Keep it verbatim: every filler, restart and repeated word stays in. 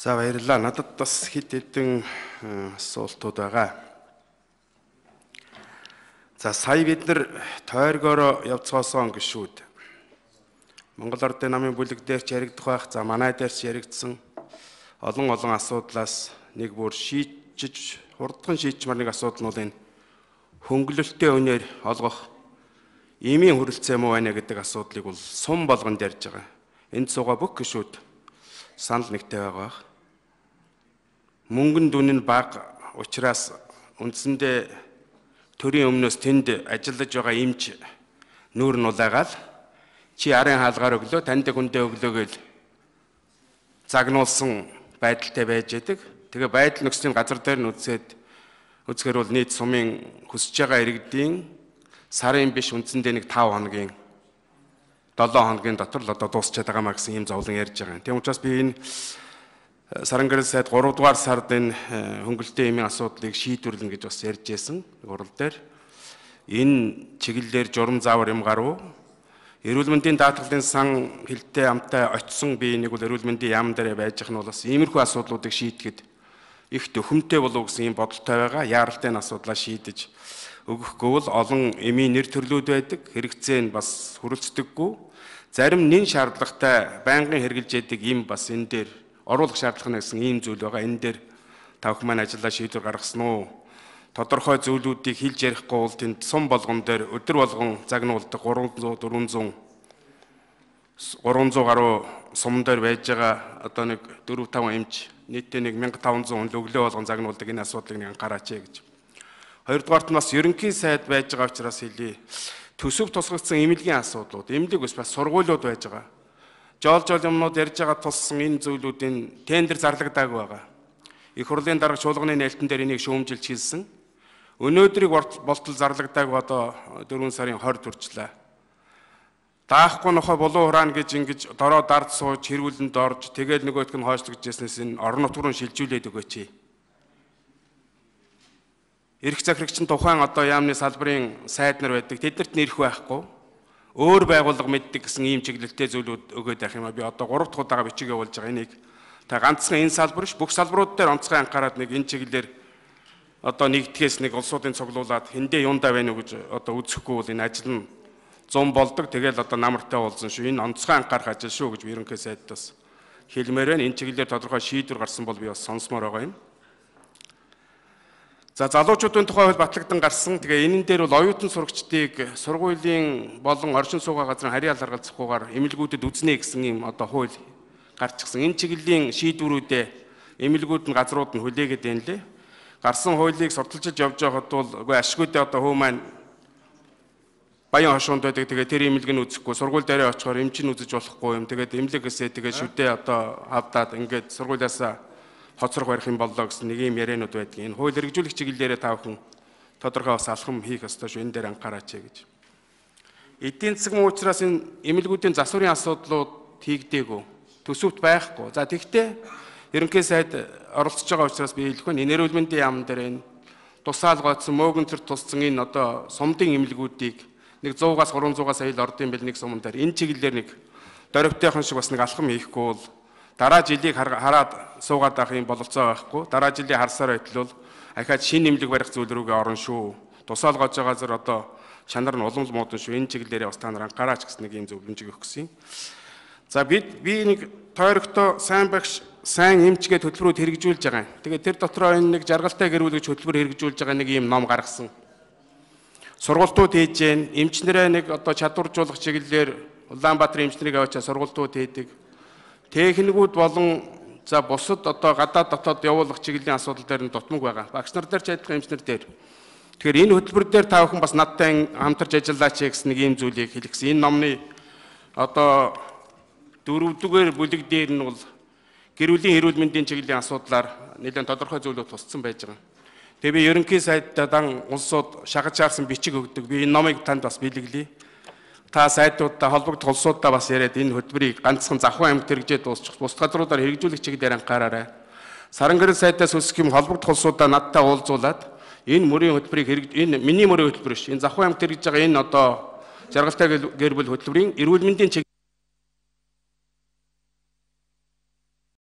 За баярлалаа. Надад бас хэд хэдэн асуултууд байгаа. За сая бид нар тойргоор явцгаасан гişүүд. Монгол Ардын намын бүлэг дээр ч яригдах байх. За манай дээр ч яригдсан олон олон асуудлаас нэг бүр шийдэж хурдхан шийдчмар нэг асуудал нь бол энэ хөнгөлөлттэй өнөр олгох имийн хүрэлцээ муу байна гэдэг асуудлыг бол сум болгон дэрж байгаа. Энд суугаа бүх гişүүд санал нэгтэй байгаа. Мөнгөн дүн нь бага учраас үндсэндээ төрийн өмнөөс тэнд ажиллаж байгаа эмч нүүр нь улайгаал чи арын хаалгаар өглөө танд хүндээ өглөө гэл загнуулсан байдалтай байж байдаг. Тэгээ байдал нөхцөлийн газар дээр нь үзээд үзэхээр бол нийт сумын хүсэж байгаа иргэдийн сарын биш үндсэндээ нэг тав хоногийн долоо хоногийн дотор л одоо дуусчаад байгаа маа гэсэн юм зовлон ярьж байгаа. Тийм учраас би энэ Сарангэрэл сайд гурав дугаар сард энэ хөнгөлөлтийн эмийн асуудлыг шийдвэрлэнэ гэж бас ярьж байсан урал дээр. Энэ чиглэлээр журам заавар юм гарав. Эрүүл мэндийн даатгалын сан хилтэй амтай очисон би нэг бол эрүүл мэндийн яам дээр байж байгаа нь бол бас иймэрхүү асуудлуудыг шийдэхэд их төхөмтэй болов гэсэн юм бодолтой байгаа. Яаралтай асуудлаа шийдэж өгөхгүй бол олон эмийн нэр төрлүүд байдаг. Хэрэгцээ нь бас хүрэлцдэггүй. Зарим нэн шаардлагатай байнгын хэрэгжилж яадаг юм бас энэ дээр оруулах шаардлага гэсэн ийм зүйл байгаа. Энэ дээр тавх маань ажиллаа шийдвэр гаргасан уу? Тодорхой зүйлүүдийг хэлж ярихгүй бол тэнд сум болгон дээр өдөр болгон загнуулдаг гурван зуун дөрвөн зуун гаруй сум дээр байж байгаа одоо нэг дөрвөн таван эмч нийтдээ нэг мянга таван зуун өглөө болгон загнуулдаг энэ асуудлыг нэг анхаараач гэж. Хоёрдугаарт нь бас ерөнхий сайд байж байгаа учраас хэлье. Төсөв тусгагдсан эмнэлгийн асуудлууд, эмнэлэг бас сургуулиуд байж байгаа. Жол жол юмнууд ярьж байгаа тулсан энэ зүйлүүдийн тендер зарлагдаагүй байгаа. Их хурлын дарга чуулганы нээлтэн дээр энийг шүүмжилж хийсэн. Өнөөдрийг болтол зарлагдаагүй одоо дөрвөн сарын хорд хүрчлээ. Даахгүй нохой булуу хураана гэж ингэж дороо дард сууж хэрүүлэнд орж тэгэл нөгөөтг нь хойшлогдож яснээс энэ орон нутгаар нь шилжүүлээд өгөөч. Эрх захирагч нь тухайн одоо яамны салбарын сайд нар байдаг. Тэднэрт нэрх байхгүй. Өөр байгууллага мэддэг гэсэн ийм чиглэлтэй зүйлүүд өгөөд байх юм а. Би одоо гурав дахь удаага бичиг явуулж байгаа. Энийг та ганцхан энэ салбар ш бүх салбарууд дээр онцгой анхаарал нэг энэ чиглэлээр одоо нэгдгээс нэг улсуудын цуглуулад хэндээ юундаа байна уу гэж одоо үзэхгүй бол энэ ажил нь зам болдог. Тэгэл одоо намартай уулзсан шүү. Энэ онцгой анхаарах ажил шүү гэж ерөнхий сайдаас хэлмээр байна. Энэ чиглэлээр тодорхой шийдвэр гарсан бол би бас сонсомоор байгаа юм. За залуучуудын тухай хууль батлагдсан гарсан. Тэгээ энэн дээр бол оюутан сурагчдыг сургуулийн болон оршин суугаа газрын харьяал харгалзахгүйгээр эмнэлгүүдэд үзнэ гэсэн юм одоо хууль гарчихсан. Энэ чиглэлийн шийдвэрүүдээ эмнэлгүүд нь газрууд нь хүлээгээд байна лээ. Гарсан хуулийг сурталчилж явж байхад бол үгүй ашигүйдээ одоо хөө маань баян хошуунд байдаг. Тэгээ тэр эмнэлэг нь үзэхгүй сургууль дээрээ очихоор эмчин үзэж болохгүй юм. Тэгээд эмнэлгээсээ тэгээ шүдээ одоо авдаад ингээд сургуулиасаа хоцрох барих юм боллоо гэсэн нэг юм яриануд байдаг. Энэ хууль хэрэгжүүлэх чиглэлээрээ та бүхэн тодорхой бас алхам хийх ёстой шүү. Энэ дээр анхаараач гэж. Эдийн засгийн учраас энэ эмнэлгүүдийн засварын асуудлууд хийгдээгүй. Төсөвт байхгүй. За тэгтээ ерөнхий сайд оролцож байгаа учраас би хэлэх байна. Энэ эрүүл мэндийн яам дээр энэ тусаал гоцсон мөөгөнцөр туссан энэ одоо сумдын эмнэлгүүдийг нэг суугаас гурван зуун сая л ордын бил нэг суман дээр энэ чиглэлээр нэг дөрөвтэйхэн шиг бас нэг алхам хийхгүй бол дараа жилийг хараад суугаад авах юм бололцоо байхгүй. Дараа жилийн харсаар байтал бол ахаад шинэ нэмлэг барих зүйл рүүгээ орно шүү. Тусаал гож байгаа зэр одоо чанар нь улам л муудан шүү. Энэ чиглэлээрээ бас та нар анхаараач гэсэн нэг юм зөвлөмж өгөх гэсэн. За бид би нэг тойрогтой сайн багш сайн эмчгээ хөтөлбөрүүд хэрэгжүүлж байгаа юм. Тэгээ тэр дотроо энэ нэг жаргалтай гэрүүлэгч хөтөлбөр хэрэгжүүлж байгаа нэг юм ном гаргасан. Сургалтууд хийж гэн эмчнэрээ нэг одоо чадваржуулах чиглэлээр Улаанбаатар эмчнэрийг аваачаа сургалтууд хийдэг. Техникүүд болон за бусад одоо гадаад дотоод явуулах чиглэлийн асуудал дээр нь дутмаг байгаа. Багш нар дээр ч адилхан эмчнэр дээр. Тэгэхээр энэ хөтөлбөр дээр та бүхэн бас надтай хамтарч ажиллаач гэсэн нэг ийм зүйлийг хэлгэсэн. Энэ номны одоо дөрөвдүгээр бүлэг дээр нь бол гэр бүлийн эрүүл мэндийн чиглэлийн асуудлаар нэлээд тодорхой зүйлүүд тусцсан байж байгаа. Тэгээ би ерөнхий сайдтаа улсууд шагаж шаарсан бичиг өгдөг. Би энэ номыг танд бас бэлгэлье. Та сайдуудаа холбогдох улсуудаа бас яриад энэ хөтөлбөрийг ганцхан Завхан аймагт хэрэгжээд дуусчих. Бус газруудаар хэрэгжүүлэх чиглэлээр анхаараарай. Сарангэрэл сайдаас үсэх юм холбогдох улсуудаа надтай уулзуулаад энэ мөрийн хөтөлбөрийг энэ миний мөрийн хөтөлбөр ш. Энэ Завхан аймагт хэрэгжиж байгаа энэ одоо жаргалтай гэр бүл хөтөлбөрийн эрүүл мэндийн чиглэл